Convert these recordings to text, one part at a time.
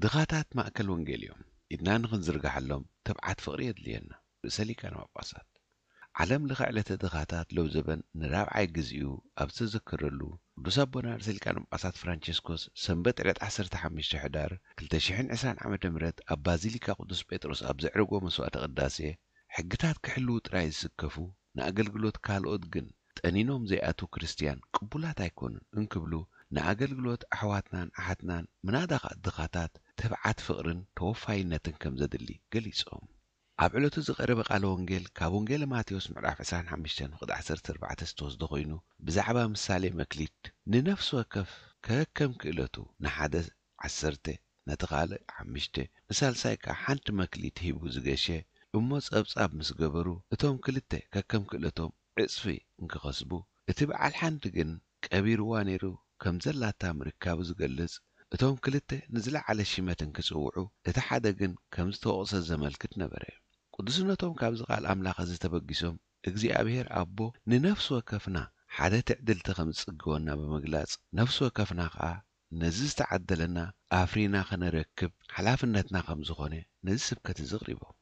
ድኻታት ማእከል ወንጌል እዮም ኢድና ንኽንዝርግሓሎም ትብዓት ፍቕሪ የድልየና። ርእሰ ሊቃነ ጳጳሳት ዓለም ለኸ ዕለተ ድኻታት ለውዘበን ንራብዓይ ግዜኡ ኣብ ዝተዘከረሉ፣ ቅዱስ ኣቦና ርእሰ ሊቃነ ጳጳሳት ፍራንቸስኮስ ሰንበት ዕለት ዓሰርተ ሓሙሽተ ሕዳር ክልተ ሽሕን ዕስራን ዓመተ ምህረት ኣብ ባዚሊካ ቅዱስ ጴጥሮስ ኣብ ዘዕረጎ መስዋዕተ ቅዳሴ፣ ሕግታት ክሕልዉ ጥራይ ዝስከፉ፣ ንኣገልግሎት ካልኦት ግን ጠኒኖም ዘይኣትዉ ክርስትያን ቅቡላት ኣይኮኑን እንክብሉ፣ ንኣገልግሎት ኣሕዋትናን ኣሓትናን ምናዳ ኸኣ ድኻታት ትብዓት ፍቕርን ተወፋይነትን ከም ዘድሊ ገሊጾም። ኣብ ዕለቱ ዝቐረበ ቃለ ወንጌል ካብ ወንጌለ ማቴዎስ ምዕራፍ ዕስራን ሓሙሽተን ፍቕዲ ዓሰርተ ኣርባዕተ ዝተወስደ ኮይኑ፣ ብዛዕባ ምሳሌ መክሊት፣ ንነፍሲ ወከፍ ከከም ክእለቱ፣ ንሓደ ዓሰርተ፣ ነቲ ካልእ ሓሙሽተ፣ ንሳልሳይ ከኣ ሓንቲ መክሊት ሂቡ ዝገሸ፣ እሞ ጸብጻብ ምስ ገበሩ፣ እቶም ክልተ ከከም ክእለቶም ዕጽፊ እንክኸስቡ፣ እቲ በዓል ሓንቲ ግን ቀቢርዋ ነይሩ ከም ዘላታ ምርካቡ ዝገልጽ፣ እቶም ክልተ ንዝለዓለ ሽመት እንክጽውዑ፣ እቲ ሓደ ግን ከም ዝተወቕሰ ዘመልክት ነበረ። ቅዱስነቶም ካብዚ ቃል ኣምላኽ እዚ ተበጊሶም፣ እግዚኣብሔር ኣቦ ንነፍሲ ወከፍና ሓደ ትዕድልቲ ከም ዝጽግወና ብምግላጽ፣ ነፍሲ ወከፍና ከኣ ነዚ ዝተዓደለና ኣፍሪና ኸነረክብ ሓላፍነትና ከም ዝኾነ ነዚ ስብከት እዚ ኣቕሪቦም።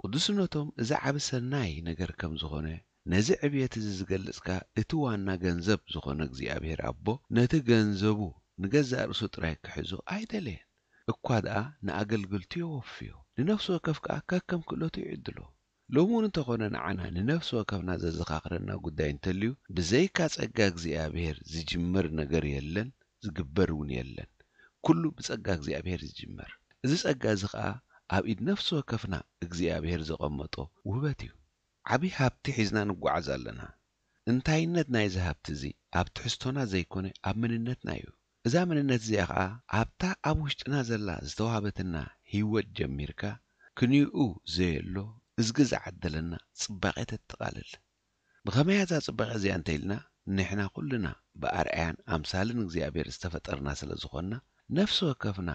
ቅዱስነቶም እዚ ዓቢ ሰናይ ነገር ከም ዝኾነ፣ ነዚ ዕብየት እዚ ዝገልጽ ከኣ እቲ ዋና ገንዘብ ዝኾነ እግዚኣብሔር ኣቦ ነቲ ገንዘቡ ንገዛእ ርእሱ ጥራይ ክሕዞ ኣይደለየን። እኳ ደኣ ንኣገልግልቱ የወፍዮ፣ ንነፍሲ ወከፍ ከኣ ከከም ክእለቱ ይዕድሎ። ሎሚ እውን እንተኾነ ንዓና ንነፍሲ ወከፍና ዘዘኻኽረና ጉዳይ እንተልዩ፣ ብዘይካ ጸጋ እግዚኣብሔር ዝጅመር ነገር የለን፣ ዝግበር እውን የለን። ኩሉ ብጸጋ እግዚኣብሔር ዝጅመር። እዚ ጸጋ እዚ ኸኣ ኣብ ኢድ ነፍሲ ወከፍና እግዚኣብሔር ዘቐመጦ ውህበት እዩ። ዓቢ ሃብቲ ሒዝና ንጓዓዝ ኣለና። እንታይነት ናይዚ ሃብቲ እዚ ኣብ ትሕዝቶና ዘይኮነ ኣብ መንነትና እዩ። እዛ መንነት እዚኣ ኸኣ ኣብታ ኣብ ውሽጥና ዘላ ዝተዋህበትና ህይወት ጀሚርካ ክንይኡ ዘየሎ እዝጊ ዝዓደለና ጽባቐ ተጠቓልል። ብኸመይ እዛ ጽባቐ እዚኣ እንተ ኢልና፣ ንሕና ኩልና ብኣርኣያን ኣምሳልን እግዚኣብሔር ዝተፈጠርና ስለ ዝኾንና፣ ነፍሲ ወከፍና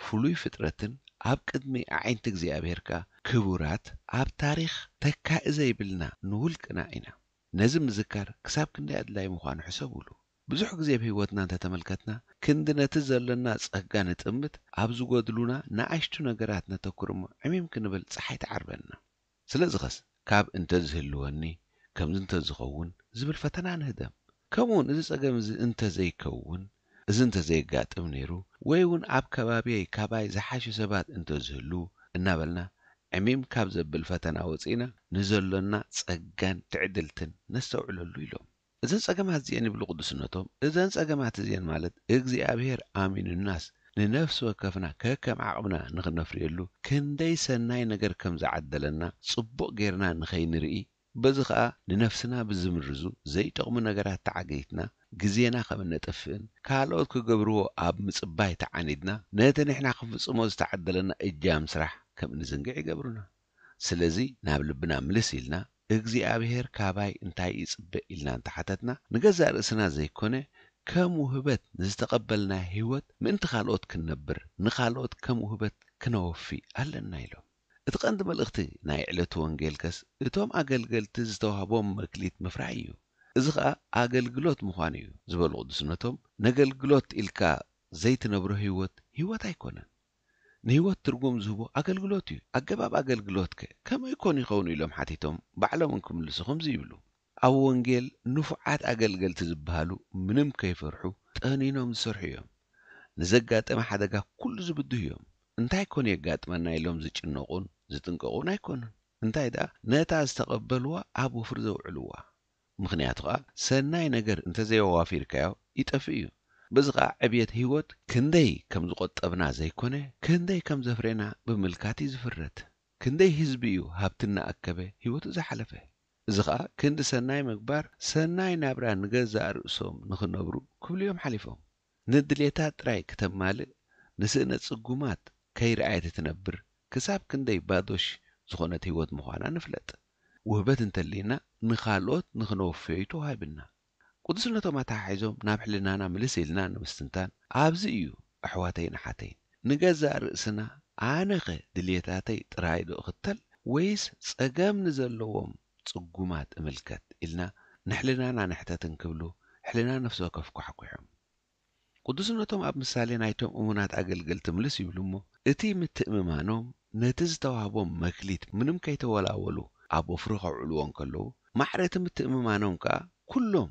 ፍሉይ ፍጥረትን ኣብ ቅድሚ ኣዒንቲ እግዚኣብሔር ከኣ ክቡራት፣ ኣብ ታሪኽ ተካኢ ዘይብልና ንውልቅና ኢና። ነዚ ምዝካር ክሳብ ክንደይ ኣድላዪ ምዃኑ ሕሰቡሉ። ብዙሕ ግዜ ኣብ ህይወትና እንተተመልከትና፣ ክንዲ ነቲ ዘሎና ጸጋ ንጥምት፣ ኣብ ዝጎድሉና ንኣሽቱ ነገራት ነተኩር እሞ ዕሚም ክንብል ጸሓይ ትዓርበና። ስለዚኸስ ካብ እንተ ዝህልወኒ፣ ከምዚ እንተ ዝኸውን ዝብል ፈተና ንህደም። ከምኡውን እዚ ጸገም እዚ እንተ ዘይከውን፣ እዚ እንተ ዘየጋጥም ነይሩ፣ ወይ እውን ኣብ ከባቢየይ ካባይ ዝሓሹ ሰባት እንተ ዝህልዉ እናበልና ዕሚም ካብ ዘብል ፈተና ወጺእና ንዘሎና ጸጋን ትዕድልትን ነስተውዕለሉ ኢሎም። እዘን ጸገማት እዚኤን ይብሉ ቅዱስነቶም፣ እዘን ጸገማት እዚኤን ማለት እግዚኣብሔር ኣሚኑናስ ንነፍሲ ወከፍና ከከም ዓቕምና ንኽነፍርየሉ ክንደይ ሰናይ ነገር ከም ዝዓደለና ጽቡቕ ጌርና ንኸይንርኢ፣ በዚ ኸኣ ንነፍስና ብዝምርዙ ዘይጠቕሙ ነገራት ተዓጊትና ግዜና ከም እነጥፍእን ካልኦት ክገብርዎ ኣብ ምጽባይ ተዓኒድና ነቲ ንሕና ክንፍጽሞ ዝተዓደለና እጃም ስራሕ ከም እንዝንግዕ ይገብሩና። ስለዚ ናብ ልብና ምልስ ኢልና እግዚኣብሔር ካባይ እንታይ ይጽበ ኢልና እንተሓተትና ንገዛእ ርእስና ዘይኮነ ከም ውህበት ንዝተቐበልናዮ ህይወት ምእንቲ ካልኦት ክንነብር ንኻልኦት ከም ውህበት ክነወፊ ኣለና ኢሎም። እቲ ቀንዲ መልእኽቲ ናይ ዕለቱ ወንጌልከስ እቶም ኣገልገልቲ ዝተዋህቦም መክሊት ምፍራይ እዩ። እዚ ኸኣ ኣገልግሎት ምዃኑ እዩ ዝበሉ ቅዱስነቶም፣ ነገልግሎት ኢልካ ዘይትነብሮ ህይወት ህይወት ኣይኮነን። ንህይወት ትርጉም ዝህቦ ኣገልግሎት እዩ። ኣገባብ ኣገልግሎትከ ከመይ ኮን ይኸውን ኢሎም ሓቲቶም ባዕሎም እንክምልሱ ከምዚ ይብሉ። ኣብ ወንጌል ንፉዓት ኣገልገልቲ ዝበሃሉ ምንም ከይፈርሑ ጠኒኖም ዝሰርሑ እዮም። ንዘጋጠመ ሓደጋ ኩሉ ዝብድሁ እዮም። እንታይ ኮን የጋጥመና ኢሎም ዝጭነቑን ዝጥንቀቑን ኣይኮኑን። እንታይ ደኣ ነታ ዝተቐበልዋ ኣብ ወፍሪ ዘውዕልዋ። ምኽንያቱ ኸኣ ሰናይ ነገር እንተዘየዋፊርካዮ ይጠፍእ እዩ። በዚ ኸኣ ዕብየት ህይወት ክንደይ ከም ዝቖጠብና ዘይኮነ ክንደይ ከም ዘፍሬና ብምምልካት እዩ ዝፍረድ። ክንደይ ህዝቢ እዩ ሃብቲ እናኣከበ ህይወቱ ዝሓለፈ። እዚ ኸኣ ክንዲ ሰናይ ምግባር ሰናይ ናብራ ንገዛእ ርእሶም ንኽነብሩ ክብሉ እዮም ሓሊፎም። ንድሌታት ጥራይ ክተማልእ ንስእነ ጽጉማት ከይረኣየት እትነብር ክሳብ ክንደይ ባዶሽ ዝኾነት ህይወት ምዃና ንፍለጥ። ውህበት እንተልይና ንኻልኦት ንኽነወፍዮ እዩ ተዋሂብና። ቅዱስነቶም ኣተሓሒዞም ናብ ሕልናና ምልስ ኢልና ንምስትንታን ኣብዚ እዩ ኣሕዋተይን ኣሓተይን ንገዛእ ርእስና ኣነኸ ድልየታተይ ጥራይ ዶ እኽተል ወይስ ጸገም ንዘለዎም ጽጉማት እምልከት ኢልና ንሕልናና ንሕተት እንክብሉ ሕልና ነፍሲ ወከፍ ኳሕኲሖም። ቅዱስነቶም ኣብ ምሳሌ ናይቶም እሙናት ኣገልገልቲ ምልስ ይብሉ እሞ እቲ ምትእምማኖም ነቲ ዝተዋህቦም መክሊት ምንም ከይተወላወሉ ኣብ ወፍሪ ከውዕልዎ እንከለዉ፣ ማዕረ እቲ ምትእምማኖም ከኣ ኩሎም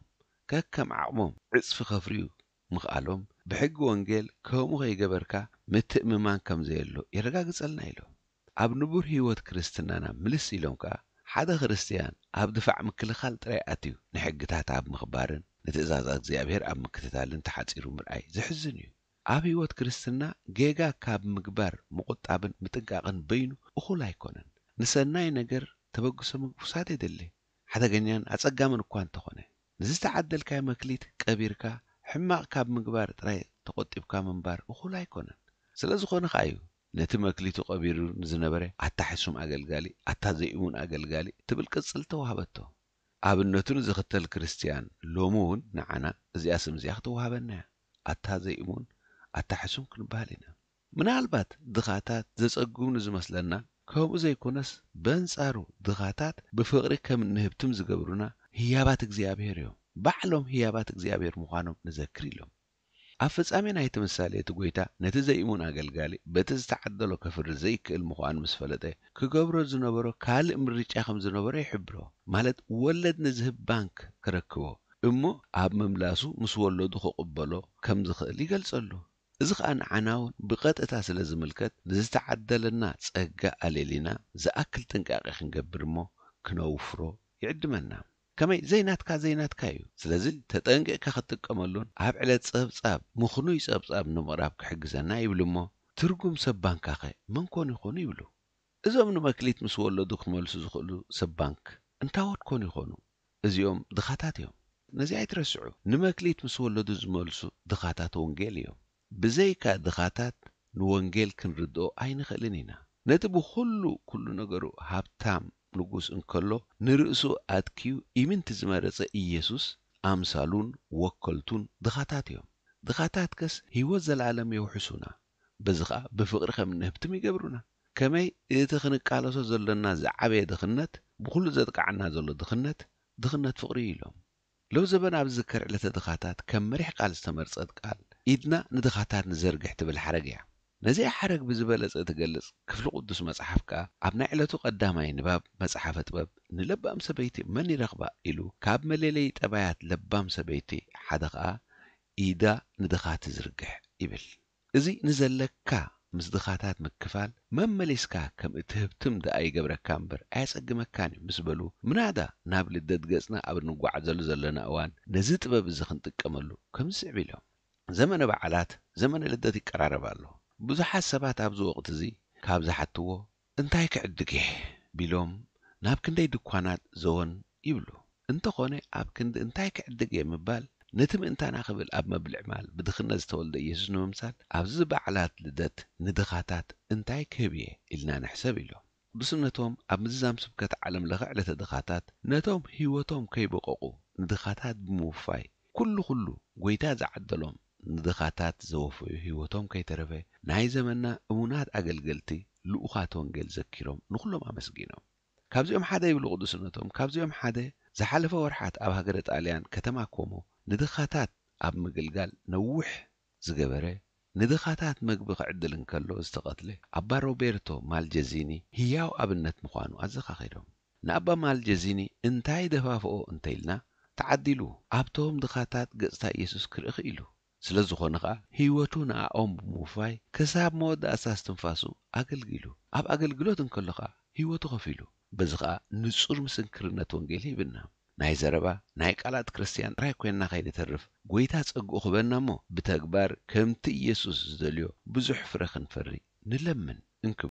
ከከም ዓቕሞም ዕጽፊ ከፍርዩ ምኽኣሎም፣ ብሕጊ ወንጌል ከምኡ ከይገበርካ ምትእምማን ከም ዘየሎ የረጋግጸልና ኢሎም። ኣብ ንቡር ህይወት ክርስትናና ምልስ ኢሎም ከኣ፣ ሓደ ክርስትያን ኣብ ድፋዕ ምክልኻል ጥራይ ኣትዩ፣ ንሕግታት ኣብ ምኽባርን ንትእዛዛት እግዚኣብሔር ኣብ ምክትታልን ተሓጺሩ ምርኣይ ዘሕዝን እዩ። ኣብ ህይወት ክርስትና ጌጋ ካብ ምግባር ምቑጣብን ምጥንቃቕን በይኑ እኹል ኣይኮነን። ንሰናይ ነገር ተበግሶ ምውሳድ የድሊ፣ ሓደገኛን ኣጸጋምን እኳ እንተኾነ። ንዝተዓደልካዮ መክሊት ቀቢርካ ሕማቕ ካብ ምግባር ጥራይ ተቖጢብካ ምንባር እኹል ኣይኮነን። ስለ ዝኾነ ከኣ እዩ ነቲ መክሊቱ ቀቢሩ ንዝነበረ ኣታ ሕሱም ኣገልጋሊ፣ ኣታ ዘይእሙን ኣገልጋሊ ትብል ቅጽል ተዋህበቶ። ኣብነቱ ንዝኽተል ክርስትያን ሎሚ እውን ንዓና እዚኣ ስም እዚኣ ክትወሃበና እያ። ኣታ ዘይእሙን፣ ኣታ ሕሱም ክንበሃል ኢና። ምናልባት ድኻታት ዘጸግቡ ንዝመስለና፣ ከምኡ ዘይኮነስ በንጻሩ ድኻታት ብፍቕሪ ከም እንህብትም ዝገብሩና ህያባት እግዚኣብሔር እዮም። ባዕሎም ህያባት እግዚኣብሔር ምዃኖም ንዘክር ኢሎም። ኣብ ፍጻሜ ናይቲ ምሳሌ እቲ ጐይታ ነቲ ዘይእሙን ኣገልጋሊ በቲ ዝተዓደሎ ከፍሪ ዘይክእል ምዃኑ ምስ ፈለጠ፣ ክገብሮ ዝነበሮ ካልእ ምርጫ ከም ዝነበሮ ይሕብሮ። ማለት ወለድ ንዝህብ ባንክ ክረክቦ እሞ ኣብ ምምላሱ ምስ ወለዱ ክቕበሎ ከም ዝኽእል ይገልጸሉ። እዚ ኸኣ ንዓና እውን ብቐጥታ ስለ ዝምልከት ንዝተዓደለና ጸጋ ኣለሊና ዝኣክል ጥንቃቄ ክንገብር እሞ ክነውፍሮ ይዕድመና። ከመይ ዘይናትካ ዘይናትካ እዩ። ስለዚ ተጠንቂቕካ ክትጥቀመሉን ኣብ ዕለት ጸብጻብ ምኽኑይ ጸብጻብ ንምቕራብ ክሕግዘና ይብል እሞ ትርጉም ሰብ ባንካኸ መን ኮን ይኾኑ ይብሉ። እዞም ንመክሊት ምስ ወለዱ ክመልሱ ዝኽእሉ ሰብ ባንክ እንታዎት ኮን ይኾኑ? እዚኦም ድኻታት እዮም። ነዚ ኣይትረስዑ። ንመክሊት ምስ ወለዱ ዝመልሱ ድኻታት ወንጌል እዮም። ብዘይካ ድኻታት ንወንጌል ክንርድኦ ኣይንኽእልን ኢና። ነቲ ብኹሉ ኩሉ ነገሩ ሃብታም ንጉስ እንከሎ ንርእሱ ኣትኪዩ ኢምንቲ ዝመረጸ ኢየሱስ ኣምሳሉን ወከልቱን ድኻታት እዮም። ድኻታትከስ ህይወት ዘለኣለም የውሕሱና። በዚ ኸኣ ብፍቕሪ ከም እንህብትም ይገብሩና። ከመይ እቲ ክንቃለሶ ዘሎና ዝዓበየ ድኽነት ብኹሉ ዘጥቃዓና ዘሎ ድኽነት ድኽነት ፍቕሪ እዩ ኢሎም። ሎብ ዘበን ኣብ ዝዝከር ዕለተ ድኻታት ከም መሪሕ ቃል ዝተመርጸት ቃል ኢድና ንድኻታት ንዘርግሕ ትብል ሓረግ እያ። ነዚኣ ሓረግ ብዝበለጸ እትገልጽ ክፍሊ ቅዱስ መጽሓፍ ከኣ ኣብ ናይ ዕለቱ ቀዳማይ ንባብ መጽሓፈ ጥበብ ንለባም ሰበይቲ መን ይረኽባ ኢሉ ካብ መለለዪ ጠባያት ለባም ሰበይቲ ሓደ ከኣ ኢዳ ንድኻ ትዝርግሕ ይብል። እዚ ንዘለካ ምስ ድኻታት ምክፋል መመሊስካ ከም እትህብትም ደኣ ይገብረካ እምበር ኣየጸግመካን እዩ ምስ በሉ ምናዳ ናብ ልደት ገጽና ኣብ እንጓዓዘሉ ዘለና እዋን ነዚ ጥበብ እዚ ክንጥቀመሉ ከምዚ ስዕብ ኢሎም። ዘመነ በዓላት ዘመነ ልደት ይቀራረብ ኣሎ። ብዙሓት ሰባት ኣብዚ ወቕቲ እዚ ካብ ዝሓትዎ እንታይ ክዕድግ እየ ቢሎም ናብ ክንደይ ድኳናት ዘወን ይብሉ። እንተኾነ ኣብ ክንዲ እንታይ ክዕድግ እየ ምባል ነቲ ምእንታና ክብል ኣብ መብልዕ ማል ብድኽነት ዝተወልደ ኢየሱስ ንምምሳል ኣብዚ በዓላት ልደት ንድኻታት እንታይ ክህብ እየ ኢልና ንሕሰብ ኢሎም። ቅዱስነቶም ኣብ ምዝዛም ስብከት ዓለም ለኸ ዕለተ ድኻታት ነቶም ህይወቶም ከይበቀቑ ንድኻታት ብምውፋይ ኩሉ ኩሉ ጐይታ ዝዓደሎም ንድኻታት ዘወፈዩ ህይወቶም ከይተረፈ ናይ ዘመንና እሙናት ኣገልገልቲ ልኡኻት ወንጌል ዘኪሮም ንኹሎም ኣመስጊኖም። ካብዚኦም ሓደ ይብሉ ቅዱስነቶም፣ ካብዚኦም ሓደ ዝሓለፈ ወርሓት ኣብ ሃገረ ጣልያን ከተማ ኮሞ ንድኻታት ኣብ ምግልጋል ነዊሕ ዝገበረ ንድኻታት መግቢ ክዕድል እንከሎ ዝተቐትለ ኣባ ሮቤርቶ ማልጀዚኒ ህያው ኣብነት ምዃኑ ኣዘኻኺሮም። ንኣባ ማልጀዚኒ እንታይ ደፋፍኦ እንተኢልና ተዓዲሉ ኣብቶም ድኻታት ገጽታ ኢየሱስ ክርኢ ክኢሉ። ስለ ዝኾነ ኸኣ ህይወቱ ንኣኦም ብምውፋይ ክሳብ መወዳእታ እስትንፋሱ ኣገልጊሉ። ኣብ ኣገልግሎት እንከሎ ኸኣ ህይወቱ ከፊሉ። በዚ ኸኣ ንጹር ምስክርነት ወንጌል ሂብና። ናይ ዘረባ ናይ ቃላት ክርስትያን ጥራይ ኮይንና ከይንተርፍ ጐይታ ጸግኡ ክበና እሞ ብተግባር ከምቲ ኢየሱስ ዝደልዮ ብዙሕ ፍረ ክንፈሪ ንለምን እንክብሉ